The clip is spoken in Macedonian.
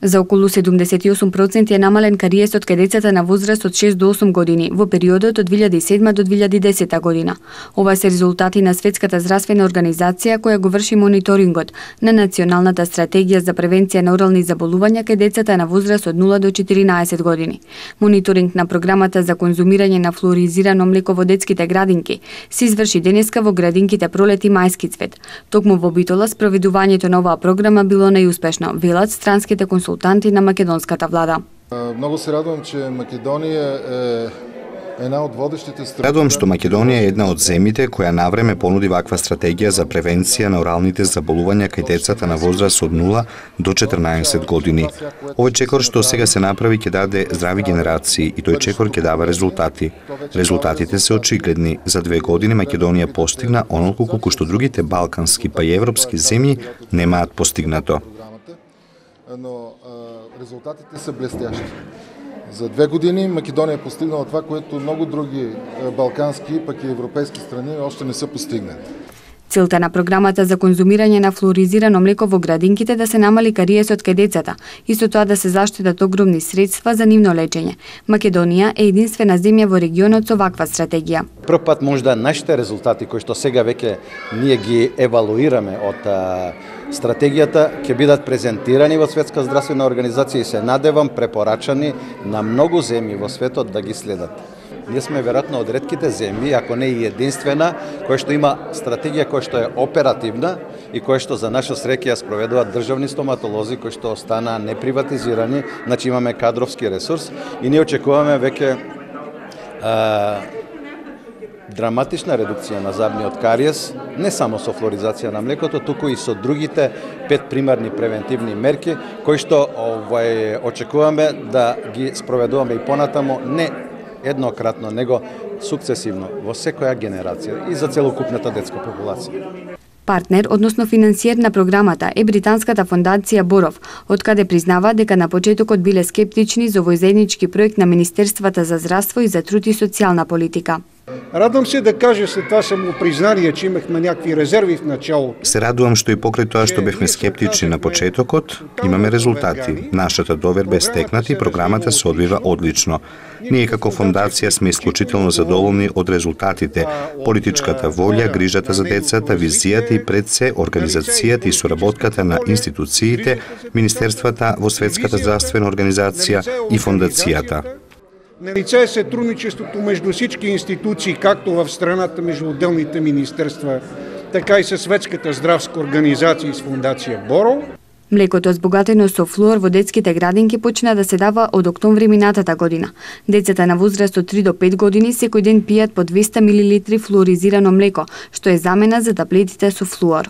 За околу 78% е намален кариесот кај децата на возраст од 6 до 8 години во периодот од 2007 до 2010 година. Ова се резултати на Светската здравствена организација која го врши мониторингот на Националната стратегија за превенција на орални заболувања кај децата на возраст од 0 до 14 години. Мониторинг на програмата за конзумирање на флуоризирано млеко во детските градинки се изврши денеска во градинките Пролет и Мајски цвет. Токму во Битола спроведувањето на оваа програма било најуспешно, велат странските консултанти на македонската влада. Многу се радувам, че Македонија е една од водещите страни. Радувам што Македонија е една од земјите која навреме понуди ваква стратегија за превенција на оралните заболувања кај децата на возраст од 0 до 14 години. Овој чекор што сега се направи ќе даде здрави генерации и тој чекор ќе дава резултати. Резултатите се очигледни. За 2 години Македонија постигна онолку колку што другите балкански па и европски земји немаат постигнато. Но резултатите се блестящи. За 2 години Македонија постигнала това, което многу други балкански, пак и европейски страни още не се постигнали. Целта на програмата за конзумирање на флуоризирано млеко во градинките да се намали кариесот кај децата и со тоа да се заштитат огромни средства за нивно лечење. Македонија е единствена земја во регионот со ваква стратегија. Прв пат можда нашите резултати кои што сега веќе ние ги евалуираме од стратегијата ќе бидат презентирани во Светска здравствена организација и се надевам препорачани на многу земји во светот да ги следат. Ние сме веројатно од ретките земји, ако не и единствена, која што има стратегија која што е оперативна и која што за наша среќа ја спроведуваат државни стоматолози кои што останаа неприватизирани, значи имаме кадровски ресурс и ние очекуваме веќе драматична редукција на забниот кариес, не само со флуоризација на млекото, туку и со другите 5 примарни превентивни мерки кои што очекуваме да ги спроведуваме и понатамо не еднократно, него сукцесивно во секоја генерација и за целокупната детска популација. Партнер, односно финансиер на програмата е британската фондација Боров, од каде признава дека на почетокот биле скептични за овој заеднички проект на Министерствата за здравство и за труд и социјална политика. Радвам се да кажа след това самопризнание, че имахме някакви резерви в началото. Се радувам што и покрај тоа што бевме скептични на почетокот, имаме резултати. Нашата доверба е стекната и програмата се одвива одлично. Ние како фондација сме исклучително задоволни од резултатите, политичката волја, грижата за децата, визијата и пред се организацијата и соработката на институциите, министерствата во Светската здравствена организација и фондацијата. Налице е сътрудничеството между всички институции, както в страната между отделните министерства, така и със Светската здравска организација и с фондација Боров. Млекото збогатено со флуор во детските градинки почна да се дава од октомври минатата година. Децата на возраст од 3 до 5 години секој ден пијат по 200 мл флуоризирано млеко, што е замена за таблетите со флуор.